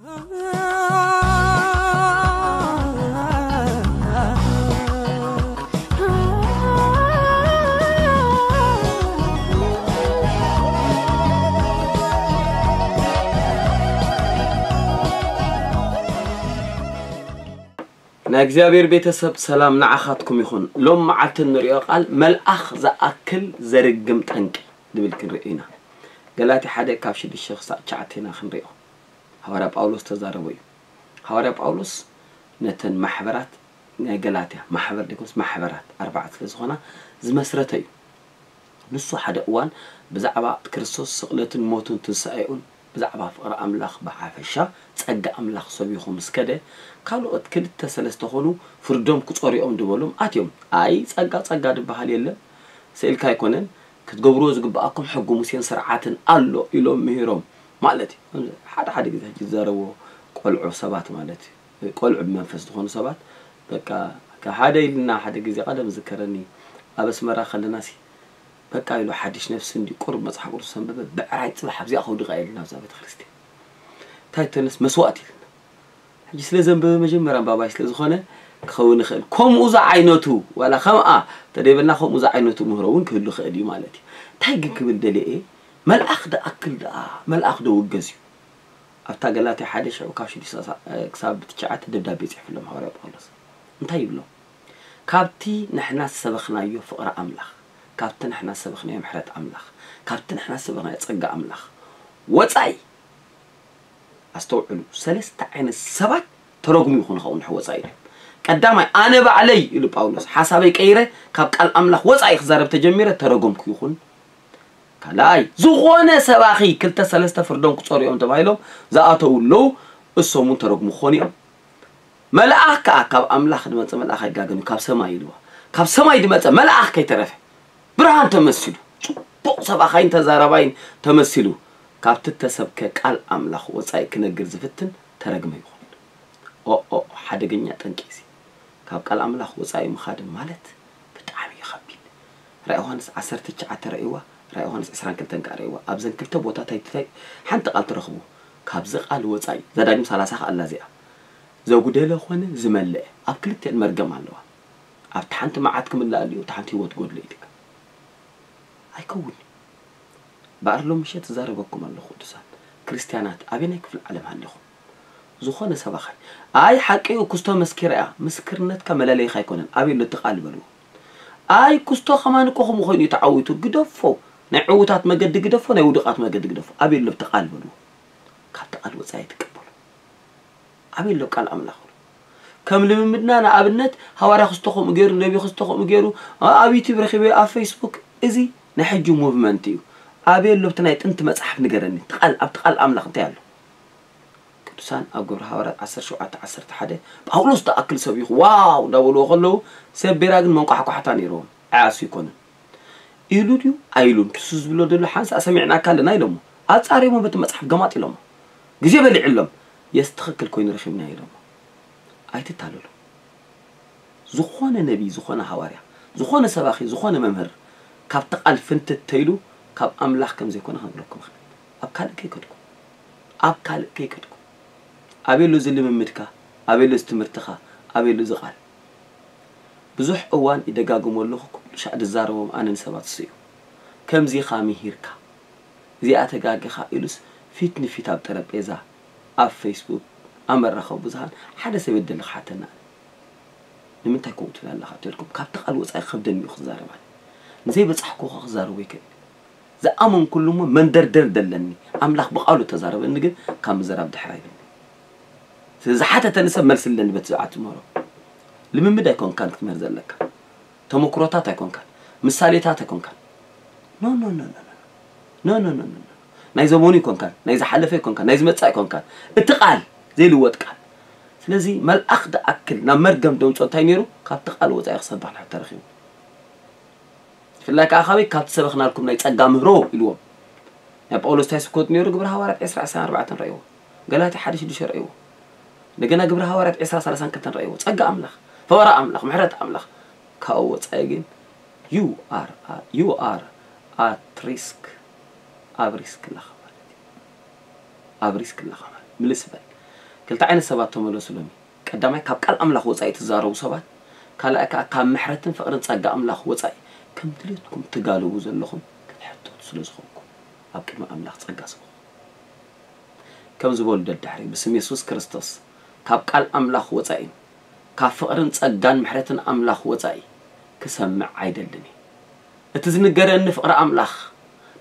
ናይ እግዚኣብሔር ቤተሰብ ሰላም ንዓኻትኩም ይኹን። ሎም መዓልቲ እንሪኦ ቃል መልኣኽ ዝኣክል ዘርግም ጠንቂ ዝብል ክንርኢ ኢና። ገላትያ ሓደ ካብ ሽዱሽተ ክሳብ ትሽዓተ ኢና ክንሪኦ። ሃዋርያ ጳውሎስ ተዛረቦ እዩ። ሃዋርያ ጳውሎስ ነተን ማሕበራት ናይ ገላትያ ማሕበር ደይኮንስ ማሕበራት ኣርባዕተ ስለ ዝኾና ዝመስረተ እዩ። ንሱ ሓደ እዋን ብዛዕባ ክርስቶስ ስቕለትን ሞቱን ትንሳኤኡን ብዛዕባ ፍቕሪ ኣምላኽ ብሓፈሻ ጸጋ ኣምላኽ ሰቢኹ ምስ ከደ ካልኦት ክልተ ሰለስተ ኾኑ ፍርዶም ክጾርኦም ድበሎም ኣትዮም። ኣይ ጸጋ ጸጋ ድበሃል የለን፣ ስኢልካ ኣይኮነን፣ ክትገብርዎ ዝግብኣኩም ሕጊ ሙሴን ስርዓትን ኣሎ ኢሎም ምሂሮም ማለት እዩ። ሓደ ሓደ ግዜ ሕጂ ዝዛረብዎ ቆልዑ ሰባት ማለት እዩ። ቆልዑ ብመንፈስ ዝኾኑ ሰባት በቃ ካብ ሓደ ኢልና ሓደ ግዜ ቀደም ዝከረኒ ኣብ ኣስመራ ከለና ሲ በቃ ኢሉ ሓድሽ ነፍሲ እንዲ ቁሩብ መጽሓፍ ቅዱስ ሰንበበ ብዕራይ ጽባሕ ኣብዚኣ ከውድቃ ኢልና ኣብዛ ቤተክርስትያን እንታይ ተነስ መስዋእቲ ኢልና ሕጂ ስለ ዘንበበ መጀመርያ ኣንባባይ ስለ ዝኾነ ክኸውን ይኽእል ከምኡ ዝዓይነቱ ዋላ ከምኣ ተደይበልና ከምኡ ዝዓይነቱ ምህሮ እውን ክህሉ ይኽእል እዩ ማለት እዩ እንታይ ግን ክብል ደልየ መልኣኽ ደኣክል ደኣ መልኣኽ ዶ ውገዝ እዩ ኣብታ ገላትያ ሓደ ሽዑ ካብ ሽዱሽተ ክሳብ ትሽዓተ ደብዳቤ ይጽሕፍሎም ሃዋርያ ጳውሎስ እንታይ ይብሎም ካብቲ ንሕና ዝሰበኽናዮ ፍቕሪ ኣምላኽ ካብቲ ንሕና ዝሰበኽናዮ ምሕረት ኣምላኽ ካብቲ ንሕና ዝሰበኽናዮ ጸጋ ኣምላኽ ወጻኢ ኣስተውዕሉ ሰለስተ ዓይነት ሰባት ተረጉሙ ይኹን ኸውን ወጻኢ ኢሉ ቀዳማይ ኣነ ባዕለይ ኢሉ ጳውሎስ ሓሳበይ ቀይረ ካብ ቃል ኣምላኽ ወጻኢ ክዛረብ ተጀሚረ ተረጎምኩ ይኹን ካልኣይ ዝኾነ ሰባኺ ክልተ ሰለስተ ፍርዶም ክጸርዮም ተባሂሎም ዝኣተው ኣለዉ እሶም እውን ተረጉሙ ክኾኑ እዮም መልኣኽ ከዓ ካብ ኣምላኽ ዝመፀ መልኣኽ ኣይጋገን ካብ ሰማይ ኢልዋ ካብ ሰማይ ዝመፀ መልኣኽ ከይተረፈ ብርሃን ተመሲሉ ፅቡቕ ሰባኻይን ተዛራባይን ተመሲሉ ካብቲ ተሰብከ ቃል ኣምላኽ ወፃኢ ክነግር ዝፍትን ተረግመ ይኹን ኦኦ ሓደገኛ ጠንቂ እዚ ካብ ቃል ኣምላኽ ወፃኢ ምኻድ ማለት ብጣዕሚ እዩ ከቢድ ራእይ ዮሃንስ ዓሰርተ ትሽዓተ ረእይዋ ራእይ ዮሃንስ ዕስራን ክልተን ከዓ ረእይዋ ኣብዘን ክልተ ቦታታት እንታይ ሓንቲ ቃል ትረኽቡ ካብዚ ቃል ወፃኢ እዛ ዳግም ሰላሳ ከዓ ኣላ እዚኣ ዘጉደለ ኾነ ዝመለአ ኣብ ክልቲአን መርገም ኣለዋ ኣብቲ ሓንቲ መዓት ክምላእ ኣለዩ እቲ ሓንቲ ህይወት ጎድሎ ኢልካ ኣይከውን በኣር ሎም ምሸት ዝዛረበኩም ኣለኹ ቅዱሳን ክርስትያናት ኣበየናይ ክፍሊ ዓለም ሃሊኹም ዝኾነ ሰባኻይ ኣይ ሓቂ እዩ ክስቶ መስኪራ እያ ምስክርነትካ መለለይኻ ኣይኮነን ኣበይ ኣሎ እቲ ቃል በልዎ ኣይ ክስቶ ከማን እኮ ከምኡ ኮይኑ እዩ ተዓዊቱ ግደፎ ናይ ዕዉታት መገዲ ግደፎ ናይ ውዱቃት መገዲ ግደፎ ኣበይ ኣሎ እቲ ቃል በልዎ ካብቲ ቃል ወፃኢ ኣይትቀበሉ ኣበይ ኣሎ ቃል ኣምላኽ ከም ልምምድና ንኣብነት ሃዋርያ ክስቶ ከምኡ ገይሩ ነቢ ክስቶ ከምኡ ገይሩ ኣብ ዩቲብ ረኪበ ኣብ ፌስቡክ እዚ ናይ ሕጂ ሙቭመንት እዩ ኣበይ ኣሎ ብቲ ናይ ጥንቲ መፅሓፍ ንገረኒ ቃል ኣብቲ ቃል ኣምላኽ እንታይ ኣሎ ቅዱሳን ኣብ ግብሪ ሃዋርያት ዓሰርተ ሸውዓተ ዓሰርተ ሓደ ጳውሎስ ተኣክል ሰቢኹ ዋው እንዳበልዎ ከለዉ ሰብ ቤራ ግን መንቋሕቋሕታ ነይርዎም ዓያሱ ይኮንን ኢሉ ድዩ ኣይሉን ክሱ ዝብሎ ዘሎ ሓንሳ ሰሚዕናካ ኣለና ኢሎሞ ኣጻሪሞ በቲ መጽሓፍ ገማጥ ኢሎሞ ግዜ በሊዕሎም የስ ትኽክል ኮይኑ ረኺብና ኢሎሞ ኣይትታለሉ ዝኾነ ነቢ ዝኾነ ሃዋርያ ዝኾነ ሰባኺ ዝኾነ መምህር ካብቲ ቃል ፍንትት ተይሉ ካብ ኣምላኽ ከም ዘይኮነ ክነግረኩም ይኽእል ኣብ ካልእ ከይከድኩም ኣብ ካልእ ከይከድኩም ኣበይ ኣሎ እዚ ልምምድካ ኣበይ ኣሎ እዚ ትምህርትኻ ኣበይ ኣሎ እዚ ቃል ብዙሕ እዋን ይደጋግሞ ኣለኹ ኩሉ ሻዕ ዝዛረቦም ኣነ ንሰባት እሱ እዩ ከምዚ ኢኻ ምሂርካ እዚኣ ተጋጊኻ ኢሉስ ፊት ንፊት ኣብ ጠረጴዛ ኣብ ፌስቡክ ኣብ መራኸቢ ብዙሃን ሓደ ሰብ የደሊ ክሓተና ኣነ ንምንታይ ከምኡ ትብል ኣለኻ ተልኩም ካብቲ ቃል ወፃኢ ክኸብደኒ እዩ ክዛረብ ኣነ ንዘይበፃሕኩ ክዛረቦ ይክእል ዝኣመንኩሉ እሞ መንደርደር ደለኒ ኣምላኽ ብቃሉ ተዛረበኒ ግን ካብ ምዘራብ ድሕር ኣይብልኒ ስለዝሓተተኒ ሰብ መልሲ ኣለኒ በቲ ዝዓት ምህሮ ልምምድ ኣይኮንካን ክትምህር ዘለካ ተመክሮታት ኣይኮንካን ምሳሌታት ኣይኮንካን no no no no no no no no no no ናይ ዘመኑ ኣይኮንካን ናይ ዝሓለፈ ኣይኮንካን ናይ ዝመፅእ ኣይኮንካን እቲ ቃል ዘይልወጥ ቃል ስለዚ መልኣኽ ዝኣክል ናብ መርገም ደምፆ እንታይ ነይሩ ካብቲ ቃል ወፃኢ ክሰብሕ ንሕተረኺቡ ብፍላይ ከዓ ካበይ ካብ ዝሰበኽናልኩም ናይ ጸጋ ምህሮ ኢልዎም። ናይ ጳውሎስ እንታይ ስብከቱ ነይሩ? ግብረ ሃዋርያት ዕስራ ዕስራን ኣርባዕተን ረእይዎ። ገላትያ ሓደ ሽዱሽተ ረእይዎ። እንደገና ግብረ ሃዋርያት ዕስራ ሰላሳን ክልተን ረእይዎ። ጸጋ ኣምላኽ፣ ፍቕሪ ኣምላኽ፣ ምሕረት ኣምላኽ። ካብኡ ወጻኢ ግን you are you are at risk ኣብ ሪስክ ኣለኻ ማለት እዩ። ኣብ ሪስክ ኣለኻ ማለት ምልስ በል። ክልተ ዓይነት ሰባት ተመለሱሎም። ቀዳማይ፣ ካብ ቃል ኣምላኽ ወጻኢ ትዛረቡ ሰባት፣ ካልኣይ ከኣ ካብ ምሕረትን ፍቕርን ጸጋ ኣምላኽ ወጻኢ ከም ድሌትኩም ትጋልቡ ዘለኹም ክትሕተቱ ስለ ዝኾንኩም፣ ኣብ ቅድሚ ኣምላኽ ጸጋ ስበኹ። ከም ዝበሉ ደድሕሪ፣ ብስም የሱስ ክርስቶስ፣ ካብ ቃል ኣምላኽ ወጻኢን ካብ ፍቕርን ጸጋን ምሕረትን ኣምላኽ ወጻኢ ክሰምዕ ኣይደልን እየ። እቲ ዝንገረኒ ፍቕሪ ኣምላኽ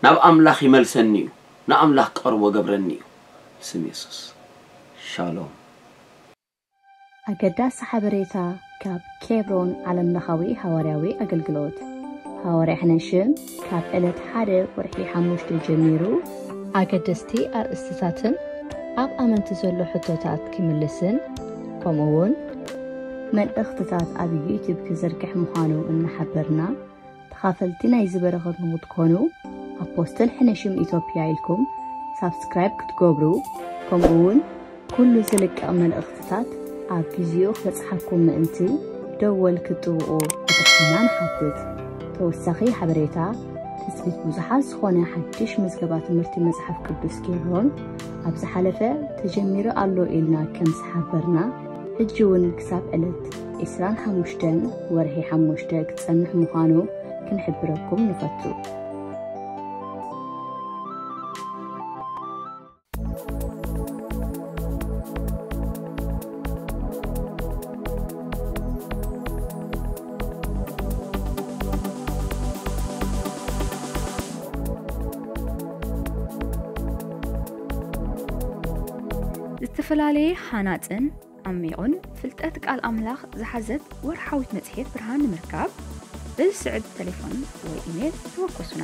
ናብ ኣምላኽ ይመልሰኒ እዩ፣ ንኣምላኽ ቀርቦ ገብረኒ እዩ። ብስም የሱስ፣ ሻሎም። ኣገዳሲ ሓበሬታ ካብ ኬብሮን ዓለምለኻዊ ሃዋርያዊ ኣገልግሎት። ሃዋርያ ሕነሽም ካብ ዕለት ሓደ ወርሒ ሓሙሽተ ጀሚሩ ኣገደስቲ ኣርእስትታትን ኣብ ኣመንቲ ዘሎ ሕቶታት ክምልስን፣ ከምኡ እውን መልእኽትታት ኣብ ዩቱብ ክዝርግሕ ምዃኑ እናሓበርና፣ ተኻፈልቲ ናይዚ በረኸት ንክትኮኑ ኣፖስትል ሕነሽም ኢትዮጵያ ኢልኩም ሳብስክራይብ ክትገብሩ፣ ከምኡ እውን ኩሉ ዝልቀቕ መልእኽትታት ኣብ ግዜኡ ክበጽሓኩም ምእንቲ ደወል ክትጥውቑ ብትሕትና ንሓትት። ተወሳኺ ሓበሬታ፣ ትጽቢት ብዙሓት ዝኾነ ሓድሽ ምዝገባ ትምህርቲ መጽሓፍ ቅዱስ ኬብሮን ኣብ ዝሓለፈ ተጀሚሩ ኣሎ ኢልና ከም ዝሓበርና፣ ሕጂ እውን ክሳብ ዕለት ዕስራን ሓሙሽተን ወርሒ ሓሙሽተ ክጸንሕ ምዃኑ ክንሕብረኩም ንፈቱ። ዝተፈላለየ ሃናጽን ዓሚቑን ፍልጠት ቃል ኣምላኽ ዝሓዘት ወርሓዊት መጽሔት ብርሃን ንምርካብ፣ በዚ ስዕብ ተሌፎን ወይ ኢሜል ተወከሱና።